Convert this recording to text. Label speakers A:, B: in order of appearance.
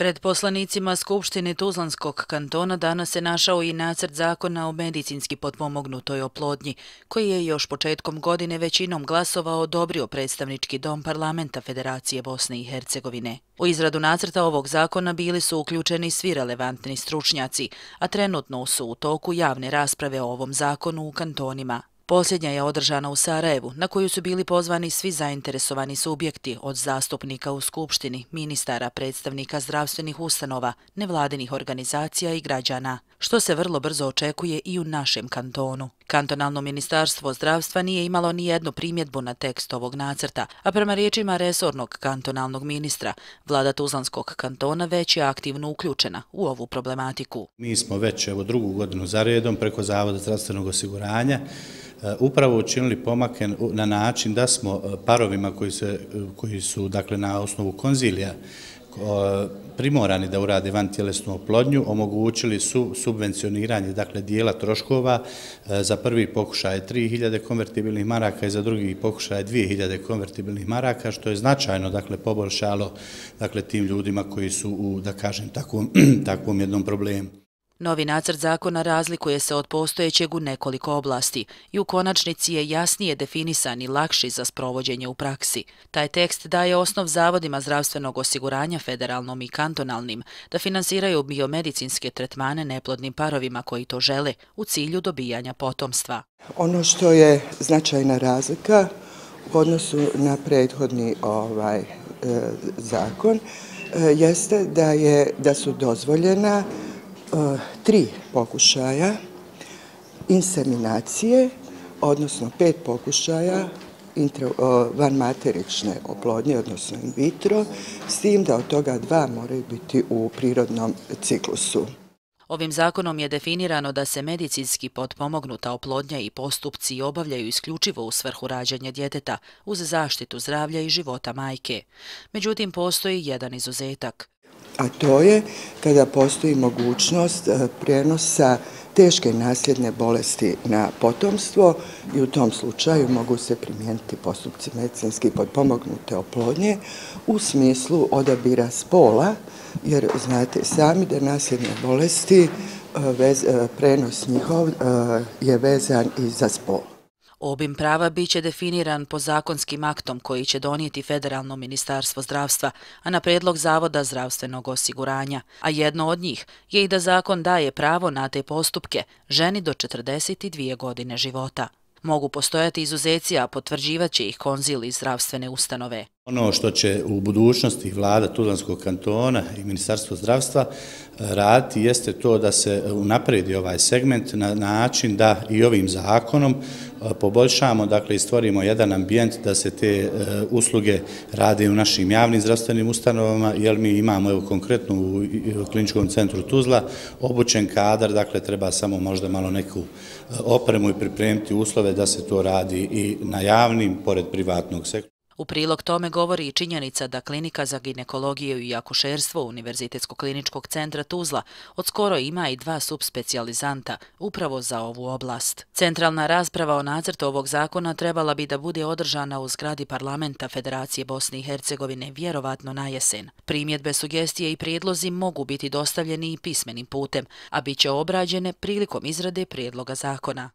A: Pred poslanicima Skupštine Tuzlanskog kantona danas se našao i nacrt zakona o medicinski potpomognutoj oplodnji, koji je još početkom godine većinom glasova odobrio predstavnički dom parlamenta Federacije Bosne i Hercegovine. U izradu nacrta ovog zakona bili su uključeni svi relevantni stručnjaci, a trenutno su u toku javne rasprave o ovom zakonu u kantonima. Posljednja je održana u Sarajevu, na koju su bili pozvani svi zainteresovani subjekti od zastupnika u Skupštini, ministara, predstavnika zdravstvenih ustanova, nevladinih organizacija i građana, što se vrlo brzo očekuje i u našem kantonu. Kantonalno ministarstvo zdravstva nije imalo ni jednu primjedbu na tekst ovog nacrta, a prema riječima resornog kantonalnog ministra, vlada Tuzlanskog kantona već je aktivno uključena u ovu problematiku.
B: Mi smo već drugu godinu za redom preko Zavoda zdravstvenog osiguranja upravo učinili pomake na način da smo parovima koji su dakle, na osnovu konzilija primorani da urade vantjelesnu oplodnju, omogućili su subvencioniranje dakle, dijela troškova za prvi pokušaj 3000 konvertibilnih maraka i za drugi pokušaj 2000 konvertibilnih maraka, što je značajno dakle, poboljšalo dakle, tim ljudima koji su u, da kažem, takvom jednom problemu.
A: Novi nacrt zakona razlikuje se od postojećeg u nekoliko oblasti i u konačnici je jasnije definisan i lakši za sprovođenje u praksi. Taj tekst daje osnov zavodima zdravstvenog osiguranja federalnom i kantonalnim da finansiraju biomedicinske tretmane neplodnim parovima koji to žele u cilju dobijanja potomstva.
C: Ono što je značajna razlika u odnosu na prethodni zakon jeste da su dozvoljena 3 pokušaja inseminacije, odnosno 5 pokušaja vanmaterične oplodnje, odnosno in vitro, s tim da od toga 2 moraju biti u prirodnom ciklusu.
A: Ovim zakonom je definirano da se medicinski potpomognuta oplodnja i postupci obavljaju isključivo u svrhu rađanja djeteta uz zaštitu zdravlja i života majke. Međutim, postoji jedan izuzetak.
C: A to je kada postoji mogućnost prijenosa teške nasljedne bolesti na potomstvo i u tom slučaju mogu se primijeniti postupci medicinski potpomognute oplodnje u smislu odabira spola, jer znate sami da nasljedne bolesti, prenos njihov je vezan i za spol.
A: Obim prava biće definiran po zakonskim aktom koji će donijeti Federalno ministarstvo zdravstva, a na predlog Zavoda zdravstvenog osiguranja, a jedno od njih je i da zakon daje pravo na te postupke ženi do 42 godine života. Mogu postojati izuzeci, a potvrđivat će ih konzil i zdravstvene ustanove.
B: Ono što će u budućnosti vlada Tuzlanskog kantona i Ministarstvo zdravstva raditi jeste to da se unapredi ovaj segment na način da i ovim zakonom poboljšamo, dakle i stvorimo jedan ambijent da se te usluge rade u našim javnim zdravstvenim ustanovama, jer mi imamo evo konkretno u Kliničkom centru Tuzla obučen kadar, dakle treba samo možda malo neku opremu i pripremiti uslove da se to radi i na javnim pored privatnog sektora.
A: U prilog tome govori i činjenica da Klinika za ginekologiju i akušerstvo Univerzitetskog kliničkog centra Tuzla odskoro ima i 2 subspecijalizanta upravo za ovu oblast. Centralna rasprava o nacrtu ovog zakona trebala bi da bude održana u zgradi parlamenta Federacije Bosne i Hercegovine vjerovatno na jesen. Primjedbe, sugestije i prijedlozi mogu biti dostavljeni i pismenim putem, a bit će obrađene prilikom izrade prijedloga zakona.